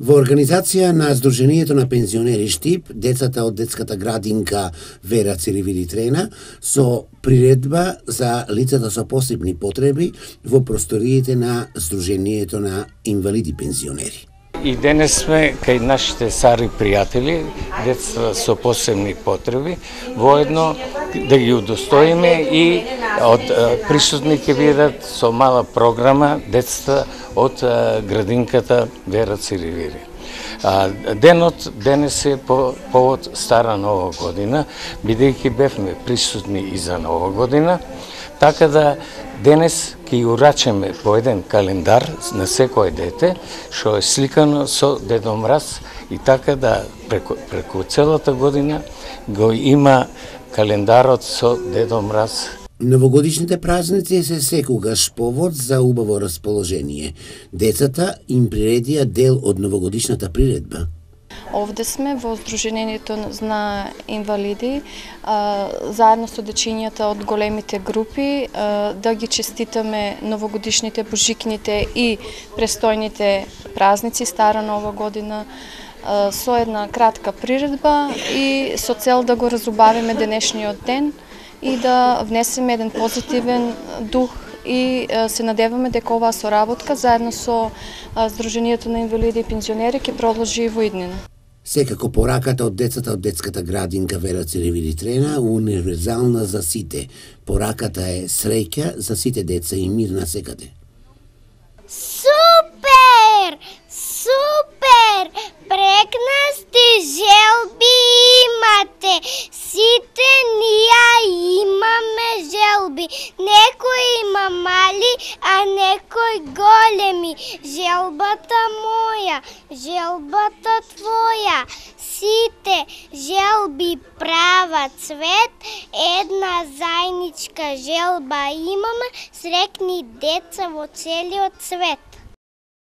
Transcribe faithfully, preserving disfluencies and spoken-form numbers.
Во организација на Сдруженијето на пензионери Штип, децата од детската градинка Вера Циревиди-Трена со приредба за лицата со посебни потреби во просториите на Сдруженијето на инвалиди пензионери. И денес сме кај нашите стари пријатели, деца со посебни потреби, воедно да ги удостоиме и од присутни ќе бидат со мала програма децата од градинката Вера Циревиди. Денот денес е по повод Стара Нова година, бидејќи бевме присутни и за Нова година, така да денес ќе урачеме по еден календар на секој дете, што е сликано со Дедо Мраз и така да преку, преку целата година го има календарот со Дедо Мраз. Новогодишните празници се секогаш повод за убаво расположение. Децата им приредија дел од новогодишната приредба. Овде сме во Сдруженијето на инвалиди, заедно со дечињата од големите групи, да ги честитаме новогодишните, божикните и престојните празници, Стара Нова година, со една кратка приредба и со цел да го разубавиме денешниот ден и да внесеме еден позитивен дух и се надеваме дека оваа соработка заедно со Сдруженијето на инвалиди и пензионери ќе продолжи и во иднина. Секако пораката од децата од детската градинка Вера Циревиди-Трена универзална за сите. Пораката е среќа за сите деца и мир на секаде. Супер! Супер! Прекрасни желби имате. Сите ние имаме желби. Некој има мали, а некој големи. Желбата моја, желбата твоја. Сите желби прават цвет. Една зајничка желба имаме. Срекни деца во целиот свет.